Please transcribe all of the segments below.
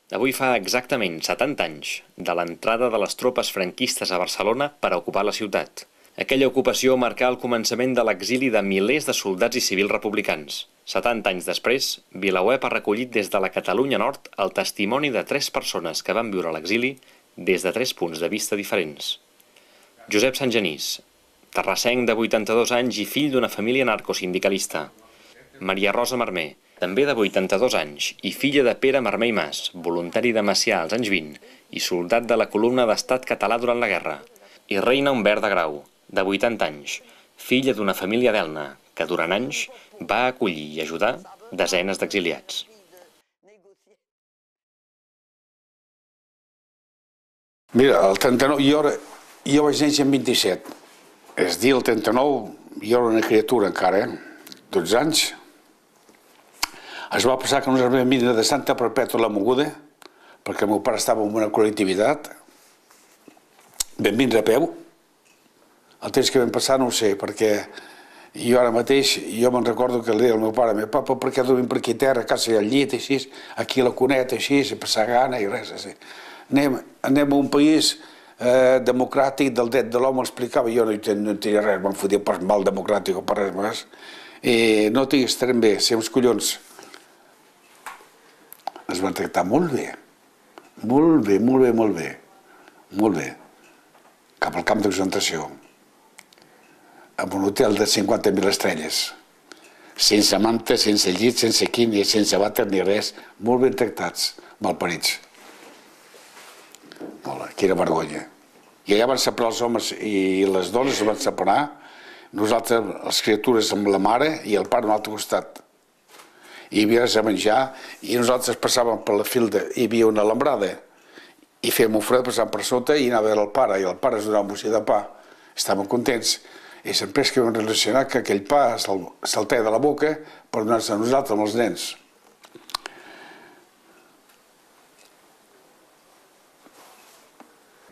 Avui fa exactament 70 anys de l'entrada de les tropes franquistes a Barcelona per a ocupar la ciutat. Aquella ocupació marcà el començament de l'exili de milers de soldats i civils republicans. 70 anys després, VilaWeb ha recollit des de la Catalunya Nord el testimoni de 3 persones que van viure a l'exili des de 3 punts de vista diferents. Josep Sangenís, terrassenc de 82 anys i fill d'una família narcosindicalista. Maria Rosa Marmé, també de 82 anys i filla de Pere Marmé i Mas, voluntari de Macià als anys 20 i soldat de la columna d'Estat català durant la guerra. I Reina Humbert de Grau, de 80 anys, filla d'una família d'Elna, que durant anys va acollir i ajudar desenes d'exiliats. Mira, el 39, jo vaig néixer en 27. És dir, el 39, jo era una criatura encara, 12 anys. Es va passar que nosaltres vam vindre de Santa Perpètua a la Moguda, perquè el meu pare estava en una col·lectivitat. Vam vindre a peu. El temps que vam passar no ho sé, perquè jo ara mateix, jo me'n recordo que li deia al meu pare, papa, per què dormim per aquí a terra, a casa al llit, així, aquí a la cuneta, així, sense passar gana i res, així. Anem a un país democràtic del dret de l'home, explicava, jo no tenia res, me'n fotia per mal democràtic o per res més. I no tinc, estarem bé, ser uns collons. Es van tractar molt bé, molt bé, molt bé, molt bé, molt bé, cap al camp de concentració, en un hotel de 50.000 estrelles, sense manta, sense llit, sense quini, sense vàter ni res, molt ben tractats, malparits. Quina vergonya. I allà van separar els homes i les dones, es van separar, nosaltres, les criatures, amb la mare i el pare a un altre costat. Hi havia res a menjar i nosaltres passàvem per la filda, hi havia una alambrada i fèiem un fred passant per sota i anava a veure el pare i el pare ens donava un bocí de pa. Estàvem contents i sempre que vam relacionar que aquell pa se'l treia de la boca per donar-se a nosaltres amb els nens.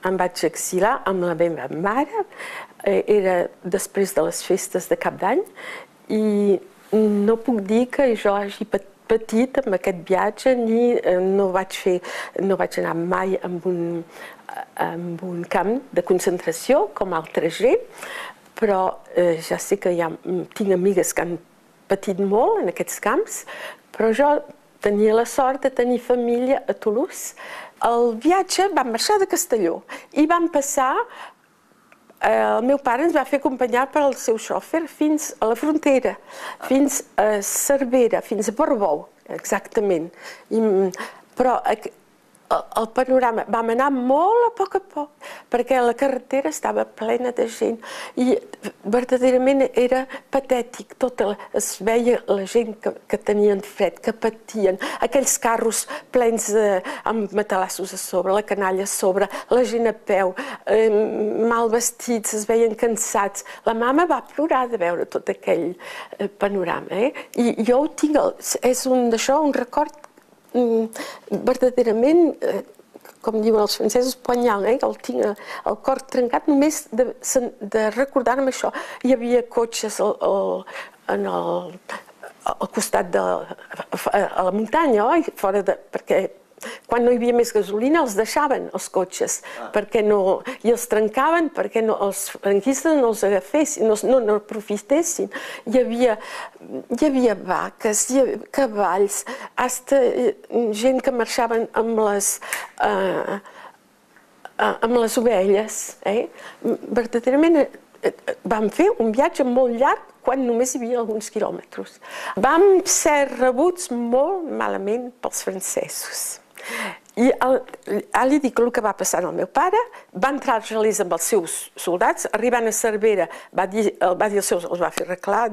Em vaig exilar amb la meva mare, era després de les festes de Cap d'Any i no puc dir que jo hagi patit amb aquest viatge ni no vaig anar mai amb un camp de concentració com altra gent, però ja sé que tinc amigues que han patit molt en aquests camps, però jo tenia la sort de tenir família a Toulouse. El viatge vam marxar de Castelló i vam passar. El meu pare ens va fer acompanyar pel seu xòfer fins a la frontera, fins a Cervera, fins a Portbou, exactament. Però el panorama, vam anar molt a poc, perquè la carretera estava plena de gent i verdaderament era patètic. Es veia la gent que tenien fred, que patien, aquells carros plens amb matalassos a sobre, la canalla a sobre, la gent a peu, mal vestits, es veien cansats. La mama va plorar de veure tot aquell panorama. I jo ho tinc, és un record verdaderament, com diuen els francesos, poignant, el tinc el cor trencat només de recordar-me això. Hi havia cotxes al costat de la muntanya, perquè quan no hi havia més gasolina els deixaven, els cotxes, i els trencaven perquè els franquistes no els agafessin, no aprofitessin. Hi havia vaques, cavalls, gent que marxaven amb les ovelles. Verdaderament vam fer un viatge molt llarg quan només hi havia alguns quilòmetres. Vam ser rebuts molt malament pels francesos. I ara li dic el que va passar al meu pare. Va entrar als gelers amb els seus soldats, arribant a Cervera, els va fer reclar,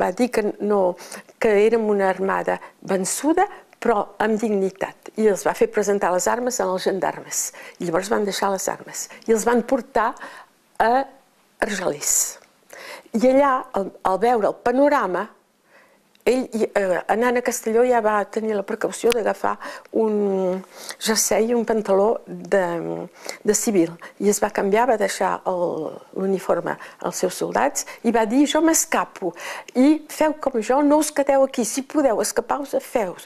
va dir que érem una armada vençuda, però amb dignitat. I els va fer presentar les armes als gendarmes. I llavors van deixar les armes. I els van portar a Argelers. I allà, al veure el panorama, ell, anant a Castelló, ja va tenir la precaució d'agafar un jersei i un pantaló de civil. I es va canviar, va deixar l'uniforme als seus soldats i va dir, jo m'escapo. I feu com jo, no us quedeu aquí. Si podeu escapar-vos, feu.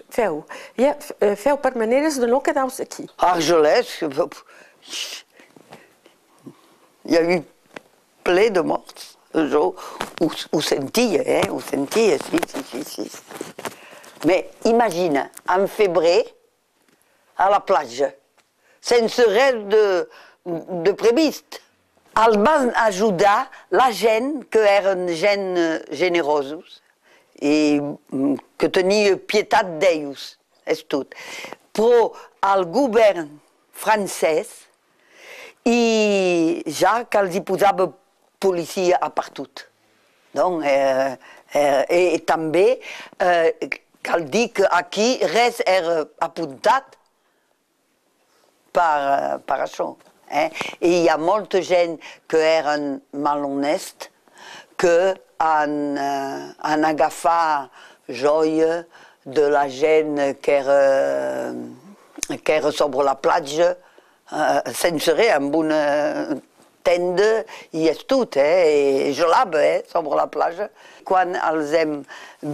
Feu per maneres de no quedar-vos aquí. A Argelès, il y a eu plein de morts. Ho sentia, ho sentia, sí. Mais imagine, en febrer, a la platja, sense res de previst. Els van ajudar la gent que eren gent generosos i que tenia pietat d'ells, és tot. Però el govern francès i ja que els hi posava policia a partut. Donc, i també cal dir que aquí res era apuntat per això. I hi ha molta gent que eren malhonest que han agafat joia de la gent que era sobre la platja sense res, amb una tenda i és tot, i gelava sobre la platja. Quan els hem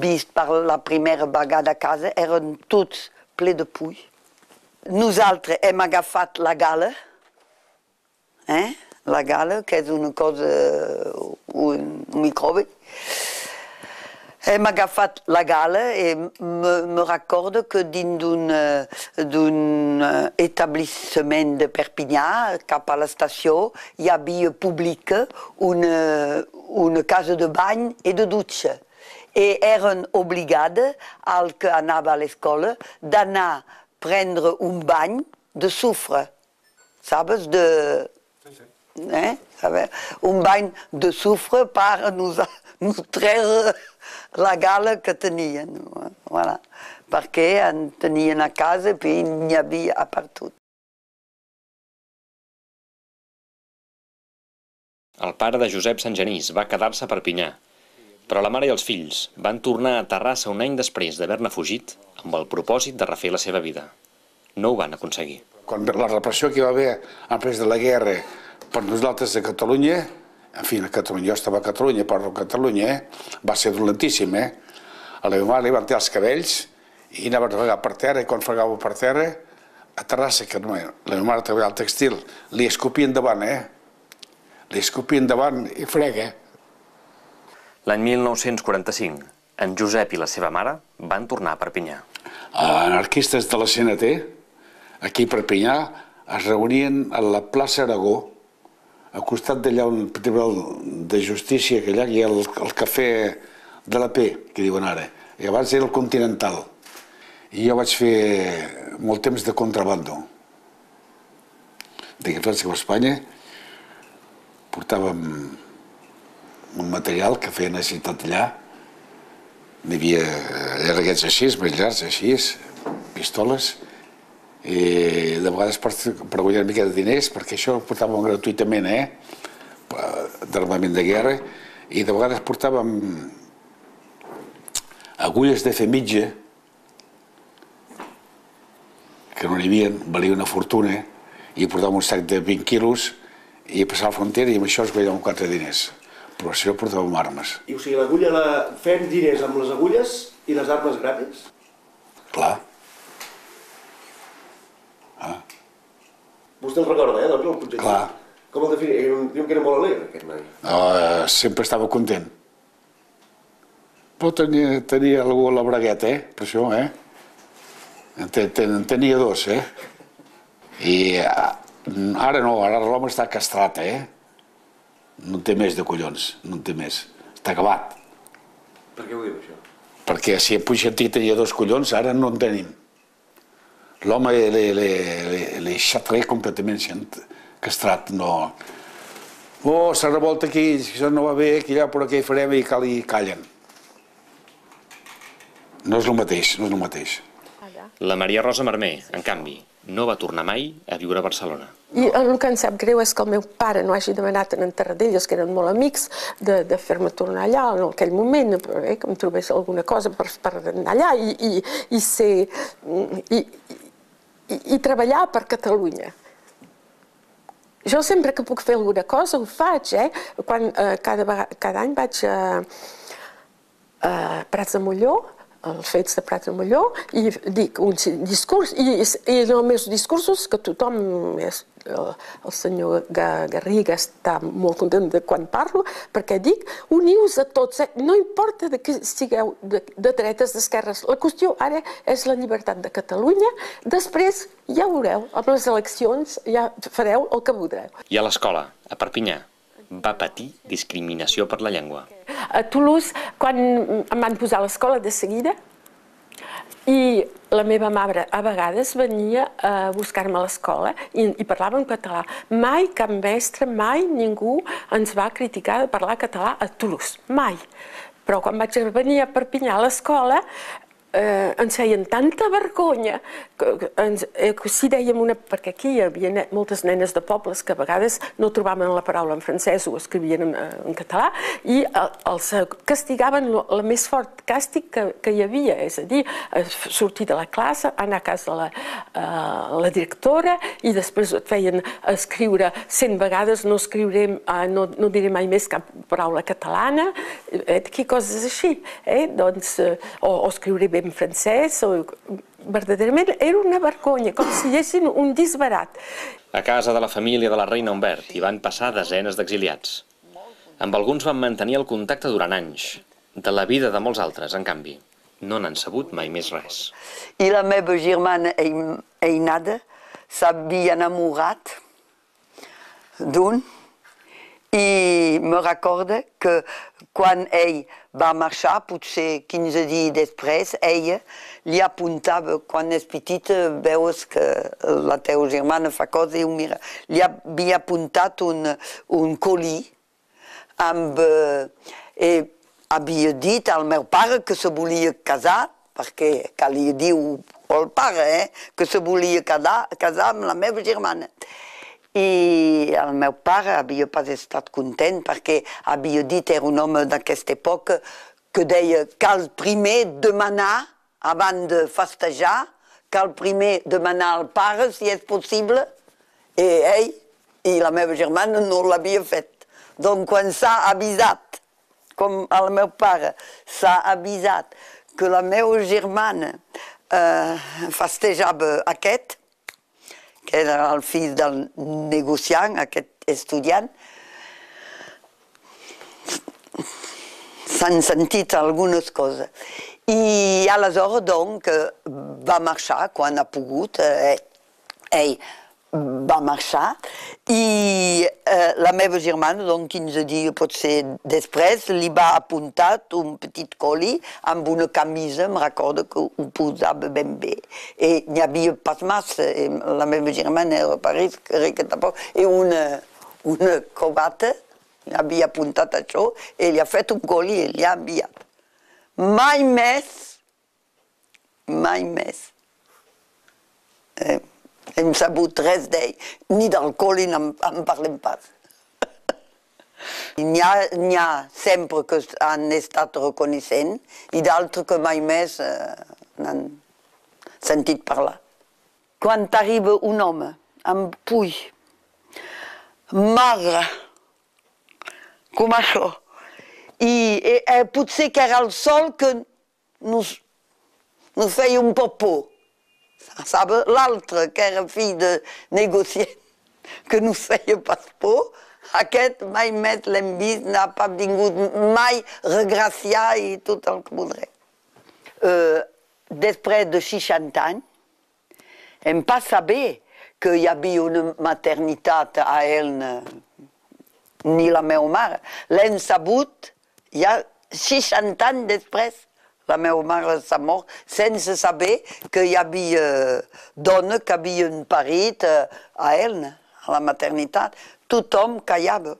vist per la primera vegada a casa eren tots ple de pull. Nosaltres hem agafat la gala, que és una cosa, un microbi. Hem agafat la gala i me recordo que dins d'un establiment de Perpinyà, cap a l'estació, hi havia pública una casa de bany i de dutxa. I eren obligades, al que anava a l'escola, d'anar a prendre un bany de sofre, sabes? Un bany de sofre per nos treure la gala que tenien, perquè en tenien a casa i n'hi havia a partout. El pare de Josep Sangenís va quedar-se a Perpinyà, però la mare i els fills van tornar a Terrassa un any després d'haver-ne fugit amb el propòsit de refer la seva vida. No ho van aconseguir. Quan la repressió que hi va haver després de la guerra per nosaltres a Catalunya, en fi, a Catalunya, jo estava a Catalunya, parlo de Catalunya, va ser dolentíssim, A la meva mare li van tirar els cabells i anava a fregar per terra, i quan fregava per terra, a Terrassa, que la meva mare treballava al textil, li escopia endavant, Li escopia endavant i frega. L'any 1945, en Josep i la seva mare van tornar a Perpinyà. Anarquistes de la CNT, aquí a Perpinyà, es reunien a la plaça Aragó, al costat d'allà un tribunal de justícia, que allà hi ha el cafè de la P, que diuen ara, i abans era el Continental. I jo vaig fer molt temps de contrabando. De França cap a Espanya, portàvem un material que feia necessitat allà, n'hi havia llarguets així, més llargs així, pistoles, i de vegades per guanyar una mica de diners, perquè això ho portàvem gratuïtament, d'armament de guerra, i de vegades portàvem agulles de fer mitja, que no n'hi havia, valia una fortuna, i portàvem un sac de 20 quilos, i passava la frontera i amb això es guanyàvem 4 diners. Però si no portàvem armes. I o sigui, l'agulla, fem diners amb les agulles i les armes gratis? Clar. Vostè el recorda, doncs, el projecte? Clar. Com el definia? Diu que era molt alegre, aquest noi. Sempre estava content. Però tenia algú a la bragueta, per això, En tenia 2, I ara no, ara l'home està castrat, No en té més de collons, no en té més. Està acabat. Per què ho diu, això? Perquè si en Puigcertí tenia 2 collons, ara no en tenim. L'home l'he xatret completament, castrat, no... Oh, se revolta aquí, això no va bé, aquí allà, però què hi farem, i callen. No és el mateix, no és el mateix. La Maria Rosa Marmé, en canvi, no va tornar mai a viure a Barcelona. I el que em sap greu és que el meu pare no hagi demanat en Tarradellas, que eren molt amics, de fer-me tornar allà en aquell moment, que em trobés alguna cosa per anar allà i treballar per Catalunya. Jo sempre que puc fer alguna cosa ho faig, cada any vaig a Prats de Molló, els fets de Prats de Molló, i dic un discurs, i en els meus discursos, que tothom, el senyor Garriga està molt content de quan parlo, perquè dic, uniu-vos a tots, no importa que sigueu de dretes, d'esquerres, la qüestió ara és la llibertat de Catalunya, després ja veureu, amb les eleccions ja fareu el que voldreu. I a l'escola, a Perpinyà, va patir discriminació per la llengua. A Toulouse, quan em van posar a l'escola de seguida, i la meva mare a vegades venia a buscar-me a l'escola i parlava en català. Mai cap mestre, mai ningú ens va criticar de parlar català a Toulouse, mai. Però quan vaig venir a Perpinyà a l'escola ens feien tanta vergonya que si dèiem perquè aquí hi havia moltes nenes de pobles que a vegades no trobaven la paraula en francès o escrivien en català i els castigaven el més fort càstig que hi havia, és a dir, sortir de la classe, anar a casa de la directora i després et feien escriure 100 vegades, no diré mai més cap paraula catalana, coses així, o escriure bé en francès, verdaderament era una vergonya, com si hi haguessin un disbarat. A casa de la família de la reina Humbert hi van passar desenes d'exiliats. Amb alguns van mantenir el contacte durant anys. De la vida de molts altres, en canvi, no n'han sabut mai més res. I la meva germana Einada s'havia enamorat d'un i me recorda que quan ell va marxar, potser 15 dies després, ella li apuntava, quan és petita, veus que la teva germana fa cosa i ho mira, li havia apuntat un colí amb... havia dit al meu pare que se volia casar, perquè calia dir al pare que se volia casar amb la meva germana. I el meu pare havia pas estat content perquè havia dit, era un home d'aquesta època, que deia cal primer demanar, abans de festejar, cal primer demanar al pare si és possible, i ell i la meva germana no l'havia fet. Donc quan s'ha avisat, com el meu pare s'ha avisat que la meva germana festejava aquest, que era el fill del negociant, aquest estudiant, s'han sentit algunes coses. I aleshores, doncs, va marxar quan ha pogut, ell va marxar, i la meva germana, doncs 15 dies potser després, li va apuntar un petit coli amb una camisa, em recordo que ho posava ben bé. I n'hi havia pas massa, la meva germana era a París, que tampoc, i una corbata, li havia apuntat això, i li ha fet un coli i li ha enviat. Mai més. Hem sabut res d'ell, ni del coli en parlem pas. N'hi ha sempre que han estat reconeixent i d'altres que mai més n'han sentit parlar. Quan arriba un home amb puny, magre, com això, i potser que era el sol que nos feia un poc por. L'altre, que era fill de negociant, que no feia pas por, aquest mai més l'hem vist, n'ha pas vingut mai regraciar i tot el que voldré. Després de 60 anys, hem pas saber que hi havia una maternitat a Elna, ni la meva mare. L'hem sabut ja 60 anys després. La meva mare s'ha mort sense saber que hi havia dones que havien parit a Elna, a la maternitat. Tothom callava.